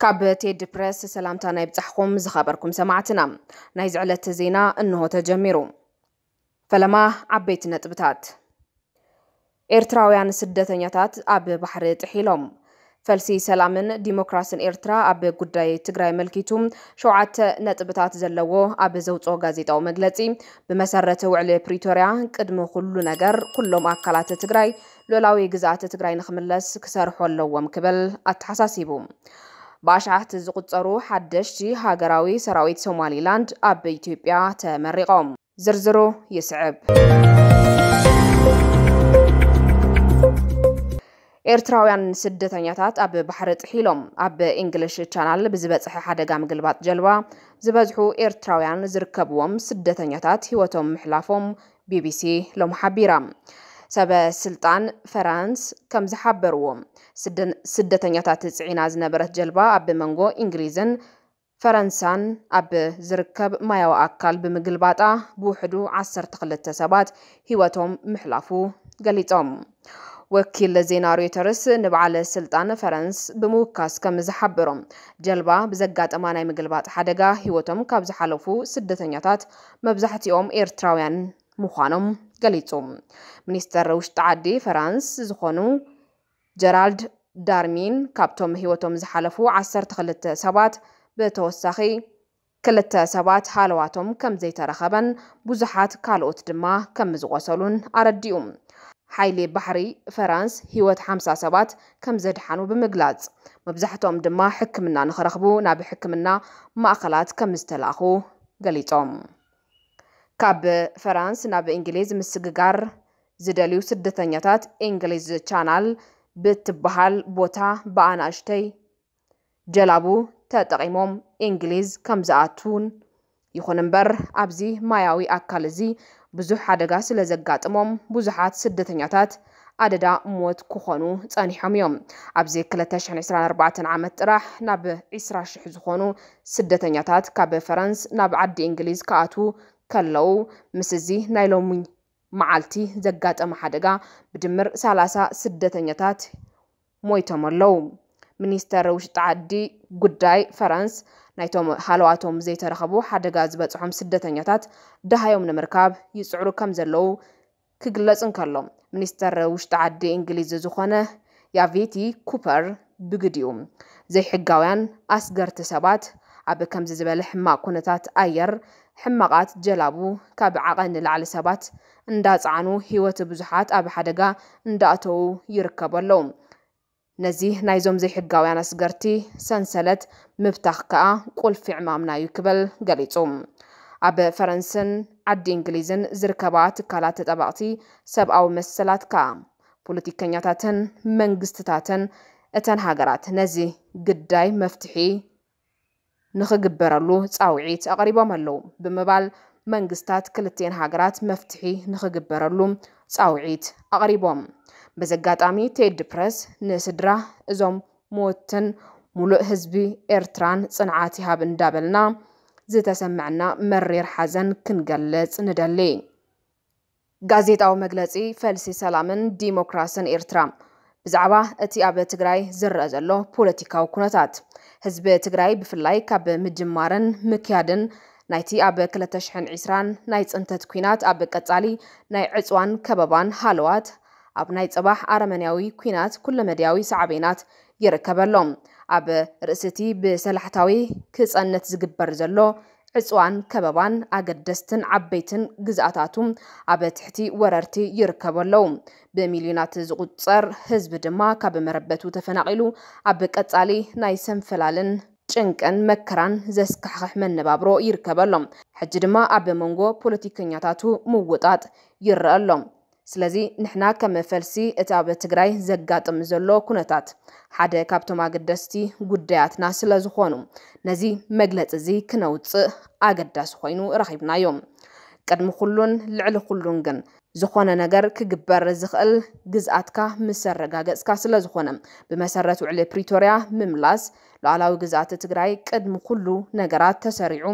ካብ ቴዲ ፕረስ ሰላምታ ናይ ብጻሕኹም ዝኸበርኩም ሰማዕትና። ናይዚ ዕለት ዜና እንሆ ተጀሚሩ። ፈለማ ዓበይቲ ነጥብታት። ኤርትራውያን ስደተኛታት ኣብ ባሕሪ ጥሒሎም። ፈልሲ ሰላምን ዲሞክራስን ኤርትራ ኣብ ጉዳይ ትግራይ ኣመልኪቱ ሸውዓተ ነጥብታት ዘለዎ ኣብ ዘውፅኦ ጋዜጣዊ መግለፂ፣ ብመሰረት ውዕሊ ፕሪቶርያ ቅድሚ ኩሉ ነገር ኩሎም ኣካላት ትግራይ ሉዓላዊ ግዝኣት ትግራይ ንኽምለስ ክሰርሑ ኣለዎም ክብል ኣተሓሳሲቡ። ብኣሽሓት ዝቑጸሩ ሓደሽቲ ሃገራዊ ሰራዊት ሶማሊላንድ ኣብ ኢትዮጵያ ተመሪቖም። ዝርዝሩ ይስዕብ። ኤርትራውያን ስደተኛታት ኣብ ባሕሪ ጥሒሎም። ኣብ ኢንግሊሽ ቻናል ብዝበጽሐ ሓደጋ ምግልባጥ ጀልባ ዝበዝሑ ኤርትራውያን ዝርከብዎም ስደተኛታት ህይወቶም ምሕላፎም ቢቢሲ ሎም ሓቢራ። ሰበ ስልጣን ፈራንስ ከም ዝሓበርዎ፣ ስደን-፣ ስደተኛታት ጽዒና ዝነበረት ጀልባ ኣብ መንጎ እንግሊዝን ፈረንሳን ኣብ ዝርከብ ማያዊ ኣካል ብምግልባጣ ብውሕዱ ዓሰርተ ክልተ ሰባት ህይወቶም ምሕላፉ ገሊጾም። ወኪል ዜና ሮይተርስ ንበዓል ስልጣን ፈረንስ ብምውካስ ከም ዝሓበሮ፣ ጀልባ ብዘጋጠማ ናይ ምግልባጥ ሓደጋ ህይወቶም ካብ ዝሓለፉ ስደተኛታት መብዛሕትኦም ኤርትራውያን ምዃኖም ገሊጹ። ሚኒስተር ውሽጢ ዓዲ ፈራንስ ዝኾኑ ጀራልድ ዳርሚን ካብቶም ህይወቶም ዝሓለፉ ዓሰርተ ክልተ ሰባት ብተወሳኺ ክልተ ሰባት ሃለዋቶም ከም ዘይተረኸበን ብዙሓት ካልኦት ድማ ከም ዝቖሰሉን ኣረዲኡ። ሓይሊ ባሕሪ ፈራንስ ህይወት ሓምሳ ሰባት ከም ዘድሓኑ ብምግላጽ፣ መብዛሕትኦም ድማ ሕክምና ንኽረኽቡ ናብ ሕክምና ማእኸላት ከም ዝተላእኹ ገሊጾም። ካብ ፈራንስ ናብ እንግሊዝ ምስግጋር ዝደልዩ ስደተኛታት እንግሊዝ ቻናል ብትበሃል ቦታ ብኣናእሽተይ ጀላቡ ተጠቒሞም እንግሊዝ ከም ዝኣትዉን፣ ይኹን እምበር ኣብዚ ማያዊ ኣካል እዚ ብዙሕ ሓደጋ ስለ ዘጋጥሞም ብዙሓት ስደተኛታት ኣደዳ ሞት ክኾኑ ጸኒሖም እዮም። ኣብዚ ክልተ ሽሕን ዕስራን ኣርባዕተን ዓመት ጥራሕ ናብ ዕስራ ሽሕ ዝኾኑ ስደተኛታት ካብ ፈረንስ ናብ ዓዲ እንግሊዝ ክኣትዉ ከለዉ፣ ምስ እዚ ናይ ሎሚ መዓልቲ ዘጋጠመ ሓደጋ ብድምር ሰላሳ ስደተኛታት ሞይቶም ኣለዉ። ሚኒስተር ውሽጢ ዓዲ ጉዳይ ፈረንስ ናይቶም ሃለዋቶም ዘይተረኸቡ ሓደጋ ዝበጽሖም ስደተኛታት ደሃዮም ንምርካብ ይጽዕሩ ከም ዘለዉ ክግለጽ እንከሎ፣ ሚኒስተር ውሽጢ ዓዲ እንግሊዝ ዝኾነ ያቪቲ ኩፐር ብግዲኡ፣ ዘይሕጋውያን ኣስገርቲ ሰባት ኣብ ከምዚ ዝበለ ሕማቕ ኩነታት ኣየር፣ ሕማቓት ጀላቡ ካብ ዓቐን ንላዕሊ ሰባት እንዳጸዓኑ ህይወት ብዙሓት ኣብ ሓደጋ እንዳእተዉ ይርከቡ ኣለዉ። ነዚ ናይዞም ዘይሕጋውያን ኣስገርቲ ሰንሰለት ምብታኽ ከኣ ቁልፊ ዕማምና እዩ ክብል ገሊጹ። ኣብ ፈረንስን ዓዲ እንግሊዝን ዝርከባ ትካላት ተጣበቕቲ ሰብኣዊ መሰላት ከኣ ፖለቲከኛታትን መንግስትታትን እተን ሃገራት ነዚ ግዳይ መፍትሒ ንኽግበረሉ ጻውዒት ኣቕሪቦም ኣለዉ ብምባል መንግስታት ክልቲኤን ሃገራት መፍትሒ ንኽግበረሉ ጻውዒት ኣቕሪቦም። በዚ ኣጋጣሚ ቴዲ ፕረስ ንስድራ እዞም ሞትን ሙሉእ ህዝቢ ኤርትራን ጽንዓት ይሃብ እንዳበልና ዝተሰምዐና መሪር ሓዘን ክንገልጽ ንደሊ። ጋዜጣዊ መግለጺ ፈልሲ ሰላምን ዲሞክራስን ኤርትራ ብዛዕባ እቲ ኣብ ትግራይ ዝረአ ዘሎ ፖለቲካዊ ኩነታት፣ ህዝቢ ትግራይ ብፍላይ ካብ ምጅማርን ምክያድን ናይቲ ኣብ ክልተ ሽሕን ዕስራን ናይ ጽንተት ኲናት ኣብ ቀጻሊ ናይ ዕጽዋን ከበባን ሃለዋት ኣብ ናይ ጽባሕ ኣረመንያዊ ኲናት ኩለመድያዊ ሳዕቤናት ይርከበሎም። ኣብ ርእሲ እቲ ብሰላሕታዊ ክጸንት ዝግበር ዘሎ ዕጽዋን ከበባን ኣገደስትን ዓበይትን ግዝኣታቱ ኣብ ትሕቲ ወረርቲ ይርከቡ ኣለዉ። ብሚልዮናት ዝቑጸር ህዝቢ ድማ ካብ መረበቱ ተፈናቒሉ ኣብ ቀጻሊ ናይ ሰንፈላልን ጭንቅን መከራን ዘስካሕኽሕ መነባብሮ ይርከበሎም። ሕጂ ድማ ኣብ መንጎ ፖለቲከኛታቱ ምውጣጥ ይረአ ኣሎ። ስለዚ ንሕና ከም ፈልሲ እቲ ኣብ ትግራይ ዘጋጥም ዘሎ ኩነታት ሓደ ካብቶም ኣገደስቲ ጉዳያትና ስለ ዝኾኑ ነዚ መግለጺ እዚ ክነውጽእ ኣገዳሲ ኮይኑ ረኺብናዮ። ቅድሚ ኩሉን ልዕሊ ኩሉን ግን ዝኾነ ነገር ክግበር ዝኽእል ግዝኣትካ ምስ ኣረጋገጽካ ስለ ዝኾነ ብመሰረት ውዕሊ ፕሪቶርያ ምምላስ ሉዓላዊ ግዝኣት ትግራይ ቅድሚ ኩሉ ነገራት ተሰሪዑ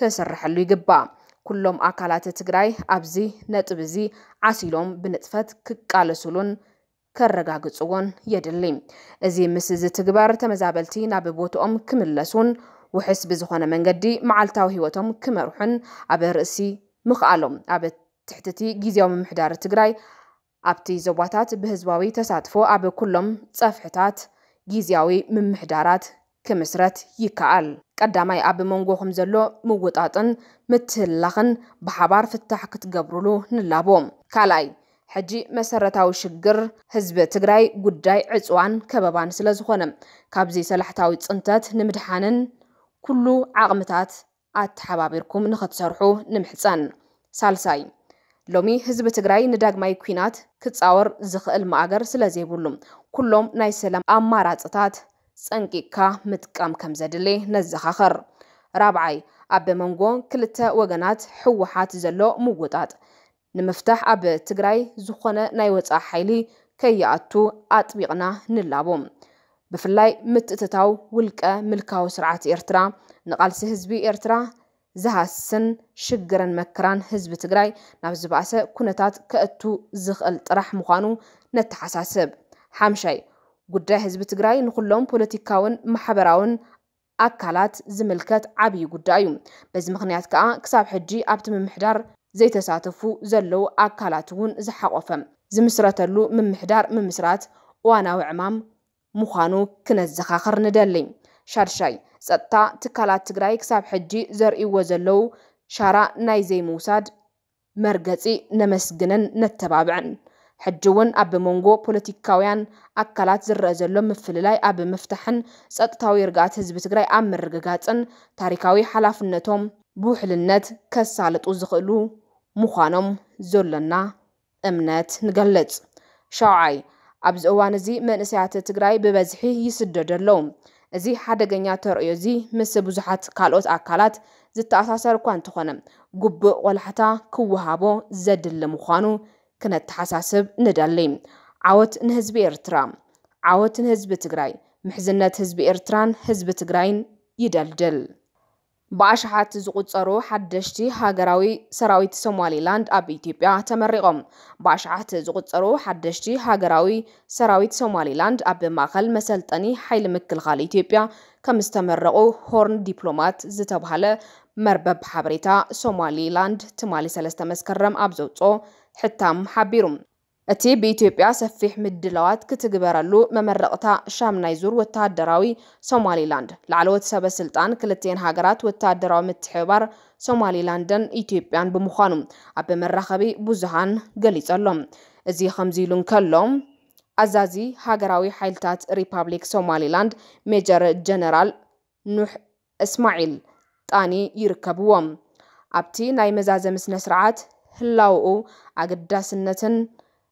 ክስርሐሉ ይግባእ። ኩሎም ኣካላት ትግራይ ኣብዚ ነጥቢ እዚ ዓሲሎም ብንጥፈት ክቃለሱሉን ከረጋግጽዎን የድሊ። እዚ ምስ ዝትግበር ተመዛበልቲ ናብ ቦትኦም ክምለሱን ውሕስ ብዝኾነ መንገዲ መዓልታዊ ህይወቶም ክመርሑን ኣብ ርእሲ ምኽኣሎም ኣብ ትሕቲ እቲ ግዝያዊ ምምሕዳር ትግራይ ኣብቲ ዞባታት ብህዝባዊ ተሳትፎ ኣብ ኩሎም ጸፍሕታት ግዝያዊ ምምሕዳራት ክምስረት ይከኣል። ቀዳማይ ኣብ መንጎኹም ዘሎ ምውጣጥን ምትህልላኽን ብሓባር ፍታሕ ክትገብሩሉ ንላቦ። ካልኣይ ሕጂ መሰረታዊ ሽግር ህዝቢ ትግራይ ጉዳይ ዕፅዋን ከበባን ስለ ዝኾነ ካብዚ ሰላሕታዊ ፅንተት ንምድሓንን ኩሉ ዓቕምታት ኣተሓባቢርኩም ንኽትሰርሑ ንምሕፀን። ሳልሳይ ሎሚ ህዝቢ ትግራይ ንዳግማይ ኲናት ክፃወር ዝኽእል ማእገር ስለ ዘይብሉ ኩሎም ናይ ሰላም ኣማራፅታት ፀንቂቕካ ምጥቃም ከም ዘድሊ ነዘኻኽር። ራብዓይ ኣብ መንጎ ክልተ ወገናት ህወሓት ዘሎ ምውጣጥ ንምፍታሕ ኣብ ትግራይ ዝኾነ ናይ ወፃኢ ሓይሊ ከይኣቱ ኣጥቢቕና ንላቦ። ብፍላይ ምትእትታው ውልቀ ምልካዊ ስርዓት ኤርትራ ንቓልሲ ህዝቢ ኤርትራ ዝሃስን ሽግርን መከራን ህዝቢ ትግራይ ናብ ዝበኣሰ ኩነታት ከእቱ ዝኽእል ጥራሕ ምዃኑ ነተሓሳስብ። ሓምሻይ ጉዳይ ህዝቢ ትግራይ ንኹሎም ፖለቲካውን ማሕበራውን ኣካላት ዝምልከት ዓብዪ ጉዳይ እዩ። በዚ ምኽንያት ከዓ ክሳብ ሕጂ ኣብቲ ምምሕዳር ዘይተሳተፉ ዘለዉ ኣካላት እውን ዝሓቆፈ ዝምስረተሉ ምምሕዳር ምምስራት እዋናዊ ዕማም ምዃኑ ክነዘኻኽር ንደሊ። ሻድሻይ ጸጥታ ትካላት ትግራይ ክሳብ ሕጂ ዘርእይዎ ዘለዉ ሻራ ናይ ዘይምውሳድ መርገጺ ነመስግንን ነተባብዕን። ሕጂ እውን ኣብ መንጎ ፖለቲካውያን ኣካላት ዝረአ ዘሎ ምፍልላይ ኣብ ምፍታሕን ጸጥታዊ ርግኣት ህዝቢ ትግራይ ኣብ ምርግጋጽን ታሪካዊ ሓላፍነቶም ብውሕልነት ከሳልጡ ዝኽእሉ ምዃኖም ዘሎና እምነት ንገልጽ። ሻውዓይ ኣብዚ እዋን እዚ መንእሰያት ትግራይ ብበዝሒ ይስደዱ ኣለዉ። እዚ ሓደገኛ ተርእዮ እዚ ምስ ብዙሓት ካልኦት ኣካላት ዝተኣሳሰር እኳ እንተኾነ ግቡእ ቆላሕታ ክወሃቦ ዘድሊ ምዃኑ ክነተሓሳስብ ንደሊ። ዓወት ንህዝቢ ኤርትራ! ዓወት ንህዝቢ ትግራይ! ምሕዝነት ህዝቢ ኤርትራን ህዝቢ ትግራይን ይደልድል። ብኣሽሓት ዝቑጸሩ ሓደሽቲ ሃገራዊ ሰራዊት ሶማሊላንድ ኣብ ኢትዮጵያ ተመሪቖም። ብኣሽሓት ዝቑጸሩ ሓደሽቲ ሃገራዊ ሰራዊት ሶማሊላንድ ኣብ ማእኸል መሰልጠኒ ሓይሊ ምክልኻል ኢትዮጵያ ከም ዝተመረቑ ሆርን ዲፕሎማት ዝተብሃለ መርበብ ሓበሬታ ሶማሊላንድ ትማሊ ሰለስተ መስከረም ኣብ ዘውፅኦ ሕታም ሓቢሩ። እቲ ብኢትዮጵያ ሰፊሕ ምድላዋት ክትግበረሉ መመረቕታ ሻምናይ ዙር ወተሃደራዊ ሶማሊላንድ ላዕለዎት ሰበ ስልጣን ክልቲኤን ሃገራት ወተሃደራዊ ምትሕብባር ሶማሊላንድን ኢትዮጵያን ብምዃኑ ኣብ መራኸቢ ብዙሃን ገሊጹ ኣሎ። እዚ ከምዚ ኢሉ እንከሎ ኣዛዚ ሃገራዊ ሓይልታት ሪፓብሊክ ሶማሊላንድ ሜጀር ጀነራል ኑሕ እስማዒል ጣኒ ይርከብዎም። ኣብቲ ናይ መዛዘሚ ስነ ስርዓት ህላውኡ ኣገዳስነትን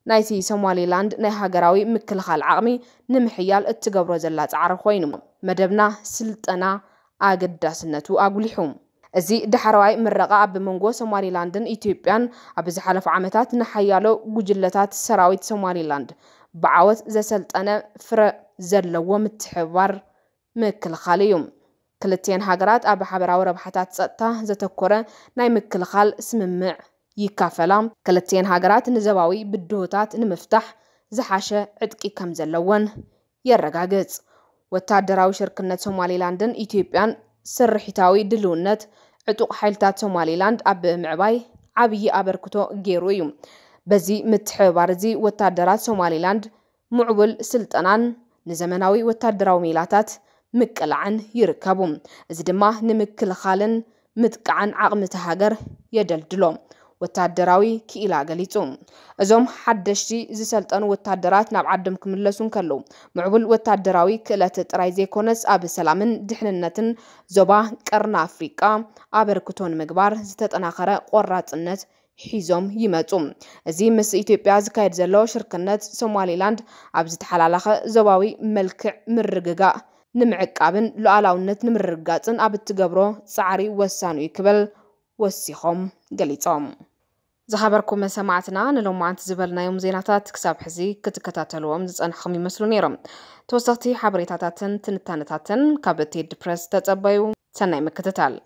ናይቲ ሶማሊላንድ ናይ ሃገራዊ ምክልኻል ዓቕሚ ንምሕያል እትገብሮ ዘላ ጻዕሪ ኮይኑ መደብና ስልጠና ኣገዳስነቱ ኣጉሊሑ። እዚ ዳሕረዋይ ምረቓ ኣብ መንጎ ሶማሊላንድን ኢትዮጵያን ኣብ ዝሓለፉ ዓመታት ንሓያሎ ጉጅለታት ሰራዊት ሶማሊላንድ ብዓወት ዘሰልጠነ ፍረ ዘለዎ ምትሕብባር ምክልኻል እዩ። ክልቲኤን ሃገራት ኣብ ሓበራዊ ረብሓታት ጸጥታ ዘተኮረ ናይ ምክልኻል ስምምዕ ይካፈላ። ክልቲኤን ሃገራት ንዘባዊ ብድሆታት ንምፍታሕ ዝሓሸ ዕጥቂ ከም ዘለወን የረጋግጽ። ወታደራዊ ሽርክነት ሶማሊላንድን ኢትዮጵያን ስርሒታዊ ድልውነት ዕጡቕ ሓይልታት ሶማሊላንድ ኣብ ምዕባይ ዓብዪ ኣበርክቶ ገይሩ እዩ። በዚ ምትሕብባር እዚ ወታደራት ሶማሊላንድ ምዕቡል ስልጠናን ንዘመናዊ ወታደራዊ ሜላታት ምቅላዕን ይርከቡ። እዚ ድማ ንምክልኻልን ምጥቃዕን ዓቕሚ እታ ሃገር የደልድሎ። ወታደራዊ ክኢላ ገሊጹ። እዞም ሓደሽቲ ዝሰልጠኑ ወታደራት ናብ ዓዶም ክምለሱ እንከለዉ ምዕቡል ወታደራዊ ክእለት ጥራይ ዘይኮነስ ኣብ ሰላምን ድሕንነትን ዞባ ቀርኒ ኣፍሪቃ ኣበርክቶ ንምግባር ዝተጠናኸረ ቆራጽነት ሒዞም ይመጹ። እዚ ምስ ኢትዮጵያ ዝካየድ ዘሎ ሽርክነት ሶማሊላንድ ኣብ ዝተሓላለኸ ዞባዊ መልክዕ ምርግጋእ ንምዕቃብን ሉዓላውነት ንምርግጋጽን ኣብ እትገብሮ ጻዕሪ ወሳኒ እዩ ክብል ወሲኾም ገሊጾም። ዝኸበርኩም ሰማዕትና ንሎማዓንቲ ዝበልናዮም ዜናታት ክሳብ ሕዚ ክትከታተልዎም ዝጸንሕኹም ይመስሉ ነይሮም። ተወሰኽቲ ሓበሬታታትን ትንታነታትን ካብ ቴዲ ፕረስ ተጸበዩ። ሰናይ ምክትታል።